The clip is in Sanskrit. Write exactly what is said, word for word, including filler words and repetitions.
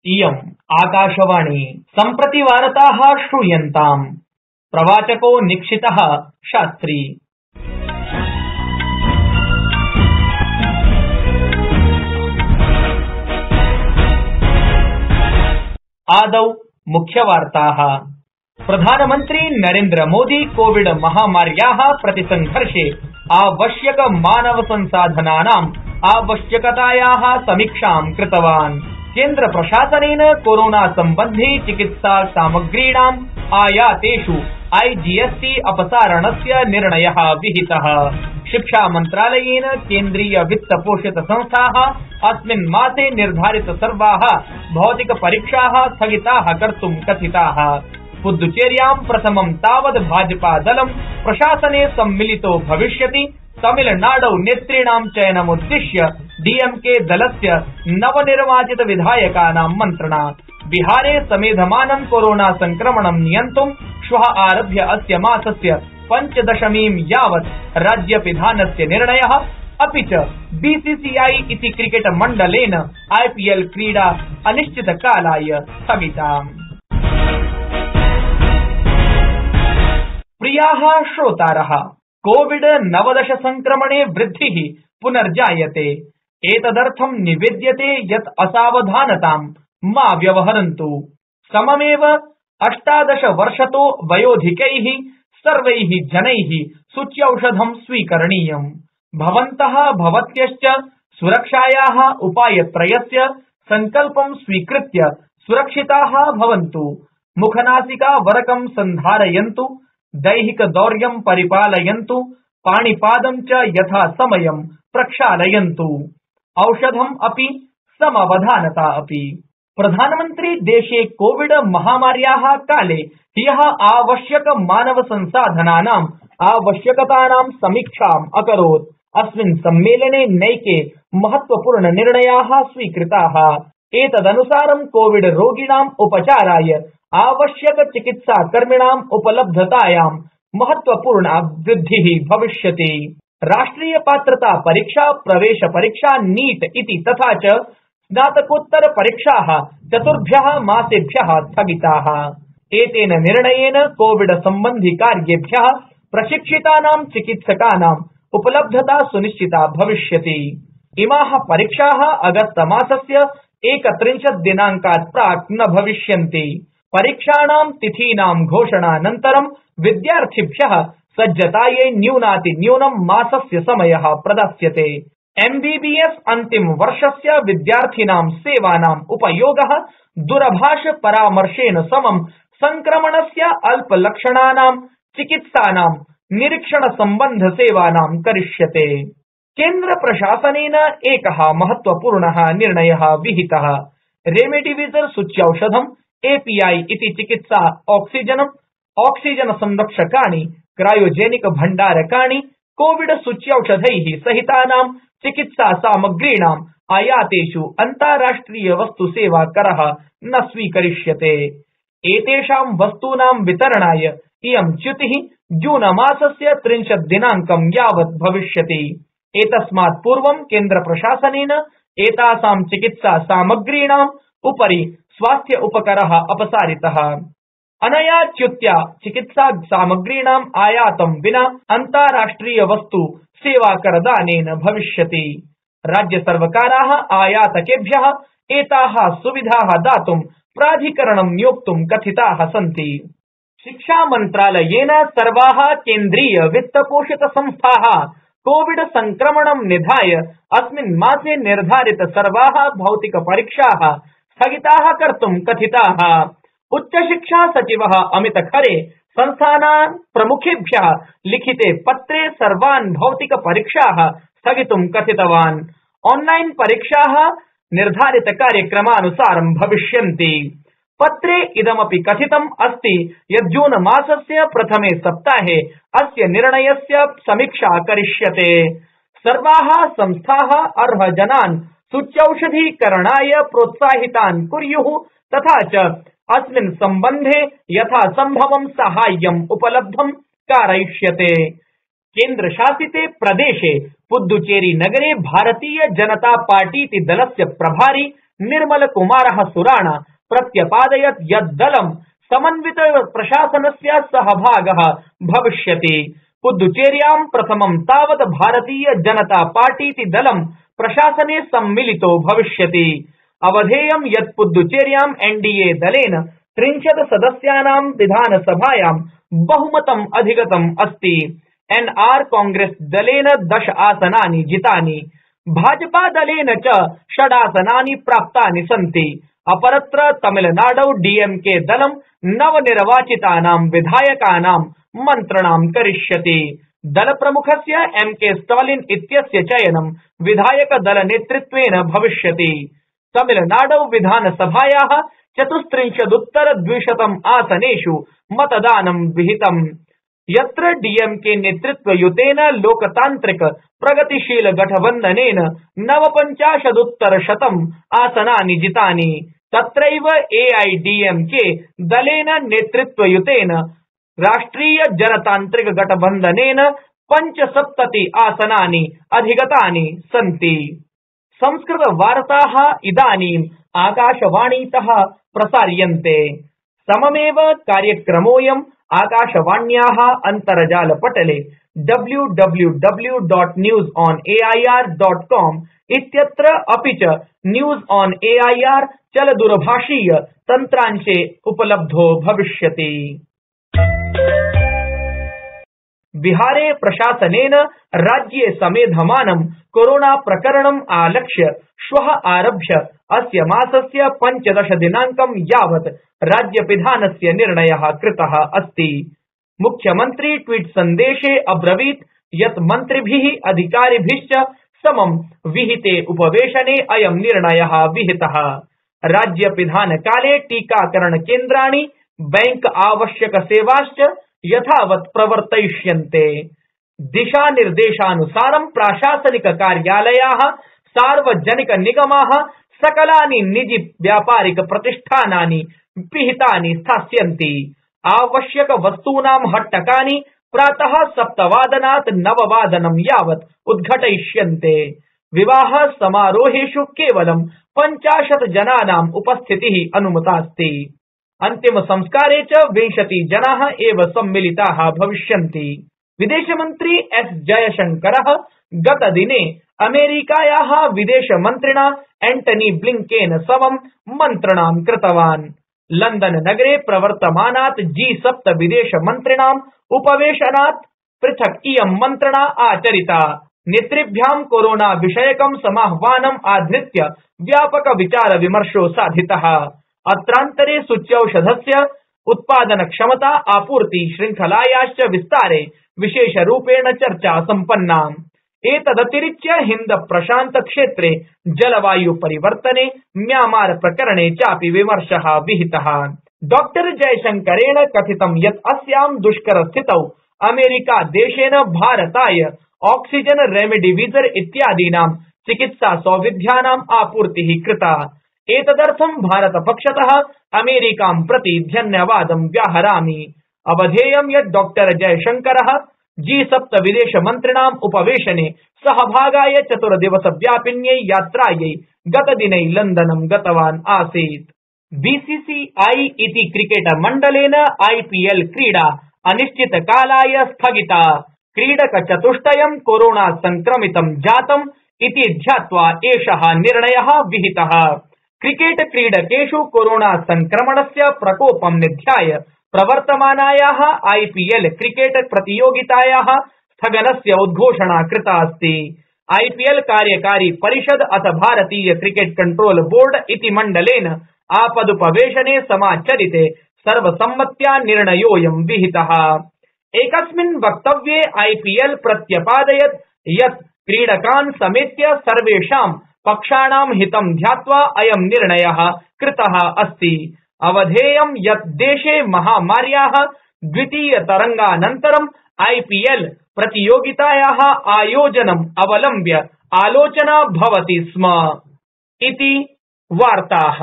इयम् आकाशवाणी सम्प्रति वार्ताः श्रूयन्ताम्। प्रवाचको निक्षितः शास्त्री। आदौ मुख्यवार्ताः। प्रधानमन्त्री नरेन्द्र मोदी कोविड महामार्याः प्रतिसंघर्षे आवश्यक मानव संसाधनानाम् आवश्यकतायाः समीक्षां कृतवान्। केन्द्र प्रशासनेन कोरोना सम्बन्धी चिकित्सा सामग्रीणाम् आयातेषु आईजीएसटी अपसारणस्य निर्णयः विहितः। शिक्षा मन्त्रालयेन केन्द्रीय वित्त पोषित संस्थाः अस्मिन् मासे निर्धारित सर्वाः भौतिक परीक्षाः स्थगिताः कर्तुं कथिताः। पुद्दुचेर्यां प्रथमं तावत् भाजपा दलं प्रशासने सम्मिलितो भविष्यति। तमिलनाडौ नेतॄणां चयनमुद्दिश्य डीएमके दलस्य नवनिर्वाचित विधायकानां मन्त्रणा। बिहारे समेधमानं कोरोना संक्रमणं नियन्तुं श्वः आरभ्य अस्य मासस्य पञ्चदशमीं यावत् राज्यपिधानस्य निर्णयः। अपि च बीसीसीआई इति क्रिकेट मण्डलेन आईपीएल क्रीडा अनिश्चितकालाय स्थगिता। प्रियाः श्रोतारः, कोविड नवदश संक्रमणे वृद्धिः पुनर्जायते। एतदर्थं निवेद्यते यत् असावधानतां मा व्यवहरन्तु। सममेव अष्टादश वर्षतो वयोधिकैः सर्वैः जनैः सूच्यौषधं स्वीकरणीयम्। भवन्तः भवत्यश्च सुरक्षायाः उपायत्रयस्य सङ्कल्पं स्वीकृत्य सुरक्षिताः भवन्तु। मुखनासिकावरकं सन्धारयन्तु, दैहिकदौर्यं परिपालयन्तु, पाणिपादं च यथा समयं प्रक्षालयन्तु। औषधम् अपि समवधानता अपि। प्रधानमन्त्री देशे कोविड महामार्याः काले ह्यः आवश्यक मानव संसाधनानाम् आवश्यकतानां समीक्षाम् अकरोत्। अस्मिन् सम्मेलने नैके महत्वपूर्ण निर्णयाः स्वीकृताः। एतदनुसारं कोविड रोगिणाम् उपचाराय आवश्यक चिकित्साकर्मिणाम् उपलब्धतायां महत्वपूर्णा वृद्धिः भविष्यति। राष्ट्रिय पात्रता परीक्षा, प्रवेश परीक्षा नीट इति तथा च स्नातकोत्तर परीक्षाः चतुर्भ्यः मासेभ्यः स्थगिताः। एतेन निर्णयेन कोविड सम्बन्धि कार्येभ्यः प्रशिक्षितानां चिकित्सकानाम् उपलब्धता सुनिश्चिता भविष्यति। इमाः परीक्षाः अगस्त मासस्य एकत्रिंशत् दिनाङ्कात् प्राक् न भविष्यन्ति। परीक्षाणां तिथीनां घोषणानन्तरं विद्यार्थिभ्यः सज्जतायै न्यूनातिन्यूनं मासस्य समयः प्रदास्यते। एमबीबीएस अन्तिम वर्षस्य विद्यार्थिनां सेवानाम् उपयोगः दूरभाष परामर्शेन समं संक्रमणस्य अल्पलक्षणानां चिकित्सानां निरीक्षण सम्बन्ध सेवानां करिष्यते। केन्द्र प्रशासनेन एकः महत्वपूर्णः निर्णयः विहितः। रेमडेसिविर सूच्यौषधम्, एपीआई इति चिकित्सा ऑक्सीजनम्, ऑक्सीजन संरक्षकाणि, क्रायोजेनिक भण्डारकाणि, कोविड सूच्यौषधैः सहितानां चिकित्सा सामग्रीणाम् आयातेषु अन्ताराष्ट्रिय वस्तु सेवा करः न स्वीकरिष्यते। एतेषां वस्तूनां वितरणाय इयं च्युतिः जून मासस्य त्रिंशत् दिनाङ्कं यावत् भविष्यति। एतस्मात् पूर्वं केन्द्र प्रशासनेन एतासां चिकित्सा सामग्रीणाम् उपरि स्वास्थ्य उपकरः अपसारितः। अनया च्युत्या चिकित्सा सामग्रीणाम् आयातं विना अन्ताराष्ट्रिय वस्तु सेवाकरदानेन भविष्यति। राज्य सर्वकाराः आयातकेभ्यः एताः सुविधाः दातुं प्राधिकरणं नियोक्तुं कथिताः सन्ति। शिक्षा मन्त्रालयेन सर्वाः केन्द्रीय वित्तपोषित संस्थाः कोविड संक्रमणं निधाय अस्मिन् मासे निर्धारित सर्वाः भौतिक परीक्षाः स्थगिताः कर्तुं कथिताः। उच्चशिक्षा सचिवः अमित खरे संस्थानान् प्रमुखेभ्यः लिखिते पत्रे सर्वान् भौतिक परीक्षाः स्थगितुं कथितवान्। ऑनलाइन परीक्षाः निर्धारित कार्यक्रमानुसारं भविष्यन्ति। पत्रे इदमपि कथितम् अस्ति यत् जून मासस्य प्रथमे सप्ताहे अस्य निर्णयस्य समीक्षा करिष्यते। सर्वाः संस्थाः अर्हजनान् सूच्यौषधीकरणाय प्रोत्साहितान् कुर्युः तथा च अस्मिन् सम्बन्धे यथासम्भवं साहाय्यम् उपलब्धं कारयिष्यते। केन्द्रशासिते प्रदेशे पुद्दुचेरी नगरे भारतीय जनता पार्टीति दलस्य प्रभारी निर्मल कुमारः सुराणा प्रत्यपादयत् यत् दलं समन्वित प्रशासनस्य सहभागः भविष्यति। पुद्दुचेर्यां प्रथमं तावत् भारतीय जनता पार्टीति दलं प्रशासने सम्मिलितो भविष्यति। अवधेयं यत् पुद्दुचेर्यां एनडीए दलेन त्रिंशत् सदस्यानां विधानसभायां बहुमतम् अधिगतम् अस्ति। एनआर कांग्रेस दलेन दश आसनानि जितानि, भाजपा दलेन च षडासनानि प्राप्तानि सन्ति। अपरत्र तमिलनाडौ डीएमके दलं नवनिर्वाचितानां विधायकानां मन्त्रणां करिष्यति। दलप्रमुखस्य एम के स्टालिन इत्यस्य चयनं विधायकदलनेतृत्वेन भविष्यति। तमिलनाडौ विधानसभायाः चतुस्त्रिंशदुत्तर द्विशतम् आसनेषु मतदानं विहितम्, यत्र डीएमके नेतृत्वयुतेन लोकतान्त्रिक प्रगतिशील गठबन्धनेन नवपञ्चाशदुत्तरशतम् आसनानि जितानि। तत्रैव एआईडीएमके दलेन नेतृत्वयुतेन राष्ट्रिय जनतान्त्रिक गठबन्धनेन पञ्चसप्तति आसनानि अधिगतानि सन्ति। संस्कृत वार्ताः इदानीम् आकाशवाणीतः प्रसार्यन्ते। सममेव कार्यक्रमोऽयम् आकाशवाण्याः अन्तर्जालपटले W W W dot news on AIR dot com इत्यत्र अपि च न्यूज़ ऑन एआईआर चलदूरभाषीय तन्त्रांशे उपलब्धो भविष्यति। बिहारे प्रशासनेन राज्ये समेधमानं कोरोना प्रकरणम् आलक्ष्य श्वः आरभ्य अस्य मासस्य पञ्चदश दिनाङ्कं यावत् राज्यपिधानस्य निर्णयः कृतः अस्ति। मुख्यमन्त्री ट्वीट सन्देशे अब्रवीत् यत् मन्त्रिभिः अधिकारिभिश्च समं विहिते उपवेशने अयं निर्णयः विहितः। राज्यपिधानकाले टीकाकरणकेन्द्राणि, बैंक आवश्यकसेवाश्च यथावत् प्रवर्तयिष्यन्ते। दिशानिर्देशानुसारं प्राशासनिक कार्यालयाः, सार्वजनिक निगमाः, सकलानि निजि व्यापारिक प्रतिष्ठानानि पिहितानि स्थास्यन्ति। आवश्यक वस्तूनां हट्टकानि प्रातः सप्तवादनात् नववादनं यावत् उद्घटयिष्यन्ते। विवाह समारोहेषु केवलं पञ्चाशत् जनानाम् उपस्थितिः अनुमतास्ति। अन्तिम संस्कारे च विंशति जनाः एव सम्मिलिताः भविष्यन्ति। विदेशमन्त्री एस जयशंकरः गतदिने अमेरिकायाः विदेशमन्त्रिणा एंटनी ब्लिंकेन समं मन्त्रणां कृतवान्। लंदन नगरे प्रवर्तमानात् जी सप्त विदेशमन्त्रिणाम् उपवेशनात् पृथक् इयं मन्त्रणा आचरिता। नेतृभ्यां कोरोना विषयकं समाह्वानम् आधृत्य व्यापक विचार विमर्शो साधितः। अत्रान्तरे सूच्यौषधस्य उत्पादन क्षमता, आपूर्ति श्रृंखलायाश्च विस्तारे विशेषरूपेण चर्चा सम्पन्ना। एतदतिरिच्य हिंद प्रशांत क्षेत्रे जलवायु परिवर्तने, म्यांमार प्रकरणे चापि विमर्शः विहितः। डॉक्टर जयशंकरेण कथितं यत् अस्यां दुष्कर स्थितौ अमेरिका देशेन भारताय ऑक्सीजन, रेमडेसिविर इत्यादीनां चिकित्सा सौविध्यानाम् आपूर्तिः कृता। एतदर्थं भारतपक्षतः अमेरिकां प्रति धन्यवादं व्याहरामि। अवधेयं यत् डॉक्टर जयशंकरः जी सप्त विदेशमन्त्रिणाम् उपवेशने सहभागाय चतुर्दिवसव्यापिन्यै यात्रायै गतदिने लंदनं गतवान् आसीत्। बीसीसीआई इति क्रिकेट मण्डलेन आईपीएल क्रीडा अनिश्चितकालाय स्थगिता। क्रीडकचतुष्टयं कोरोना संक्रमितं जातम् इति ध्यात्वा एषः निर्णयः विहितः। क्रिकेट क्रीडकेषु कोरोना संक्रमणस्य प्रकोपं निध्याय प्रवर्तमानायाः आईपीएल क्रिकेट प्रतियोगितायाः स्थगनस्य उद्घोषणा कृता अस्ति। आईपीएल कार्यकारी परिषद अथ भारतीय क्रिकेट कंट्रोल बोर्ड इति मण्डलेन आपदुपवेशने समाचरिते सर्वसम्मत्या निर्णयोऽयं विहितः। एकस्मिन् वक्तव्ये आईपीएल प्रत्यपादयत् यत् क्रीडकान् समेत्य सर्वेषां पक्षाणां हितं ध्यात्वा अयं निर्णयः कृतः अस्ति। अवधेयं यत् देशे महामार्याः द्वितीय तरंगानन्तरं आईपीएल प्रतियोगितायाः आयोजनम् अवलम्ब्य आलोचना भवति स्म इति वार्ताः।